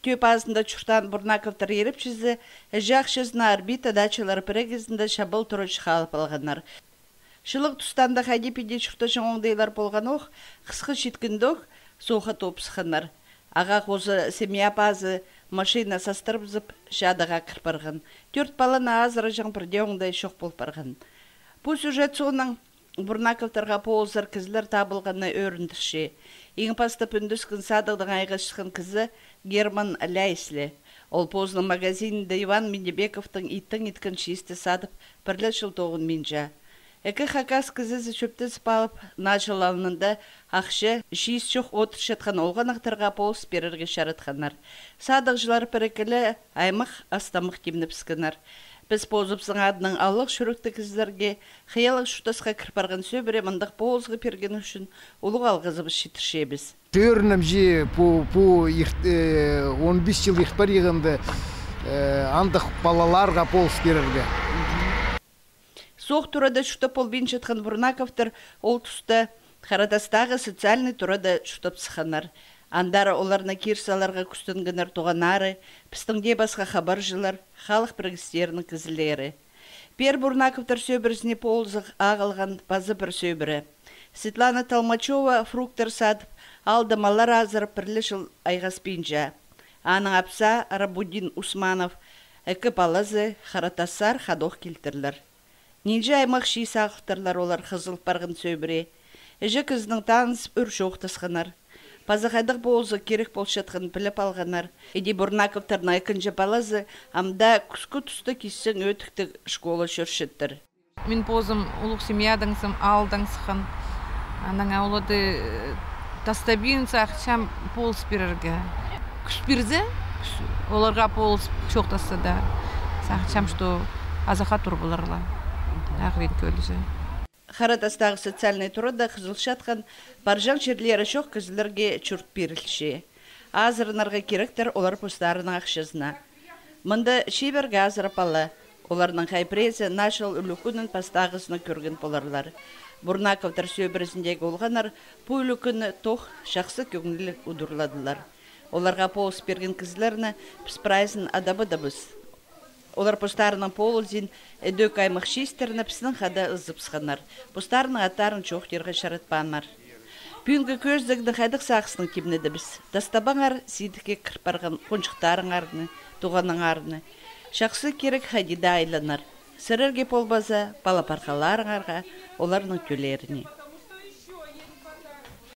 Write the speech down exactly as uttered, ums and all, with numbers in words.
Тӧӧ пазында чуртаан Бурнаковтар ирепчізі іҷе ахчазына «Орбита» дачалар пірігізінде чабал турачы халып алғаннар. Чылығ туста анда хайди-пиди чуртаҷаң оңдайлар полғанох, хысха читкенде ох, сооға топ сыхханнар. Ағаа хоза семья пазы машина састырыбызып, чадыға кір парған. Тӧрт паланы азыраҷаң пірдее оңдай чох пол парған. Пу сюжет соонаң Бурнаковтарға полызар кізілер табылғаны ӧріндірче. Иң пастап ӱндескен садығдаң айғасчатхан кізі Герман Ляйс ле. Ол позының магазинінде Иван Миннебековтың иттең иткен чиисті садып, пір ле чыл тоғынминча. Ікі хакас кізізі чӧптезіп алып, наа чыл алнында ахча, чиис чох одырчатхан олғаннахтарға полыс пирерге чаратханнар. Садығҷылар пір-ікі ле аймах астамах тимнебіскеннер. Піс позыбыстың адынаң алығ чӱректіг кізілерге, хыйалығ чуртасха кір парған сӧбіре мындағ полызығ пиргені ӱчӱн улуғ алғызыбыс читірчебіс. Тӧрінімҷе, пу, пу ирт-, э, он пис чыл ирт париғанда, э, андағ палаларға полыс пирерге. Соох турада чуртап полбинчатхан Бурнаковтар ол туста Харатастағы социальный турада чуртап сыхханнар. Андар оларны кир саларға кӱстенгеннер туғаннары, пістің дее пасха хабарҷылар, халых пірігістерінің кізілері. Пеер Бурнаковтар сӧбірезіне полызығ ағылған паза пір сӧбіре. Светлана Толмачева фруктар садып, аалда маллар азырап, пір ле чыл айғаспинча. Аның апсаа Рабудин Усманов, ікі палазы Харатассар хадох килтірлер. Нинҷе аймах чиис ағылтырлар олар хызыл парған сӧбіре. Іҷе кізінең танызып, ӱр чоохтасханнар. Паза хайдағ полызығ кирек полчатханын піліп алғаннар. Іди Бурнаковтарның ікінҷі палазы амда кӱскі туста кисчең ӧтіктіг школа чӧрчеттір. Мин позым улуғ семьядаң сым, аалдаң сыххан. Анаң оларды, э, тастабин сағынчам полыс пирерге. Кӱс пирзе, кӱс, оларға полыс чоохтасса даа, сағынчам, что азахха тур поларлар. Ағырин кӧлізі. Харатастағы социальный турада хызылчатхан, парҷаң чирлері чох кізілерге чурт пирілче. Азыранарға киректер олар постарының ахчазына. Мында чибіргі азырап ала. Оларның хай піреезі наа чыл ӱлӱкӱнін пастағызына кӧрген поларлар. Бурнаковтар сӧбірезіндегі олғаннар пу ӱлӱкӱнні тох чахсы кӧңніліг удурладылар. Оларға полыс пирген кізілерні піс прайзын адабадабыс. Олар постарының полызын, ідӧк аймах чиистерні пістің хада ызыбысханнар. Постарының аттарын чоохтирға чаратпааннар. Пӱӱнгі кӧзідігні хайдағ сағыстаң тимнедібіс. Тастабаңар сидікке кір парған хонҷыхтарыңарны, туғаныңарны. Чахсы кирек хайди даа айланар. Сірерге полбаза, пала-пархаларыңарға, оларның тӧллеріне.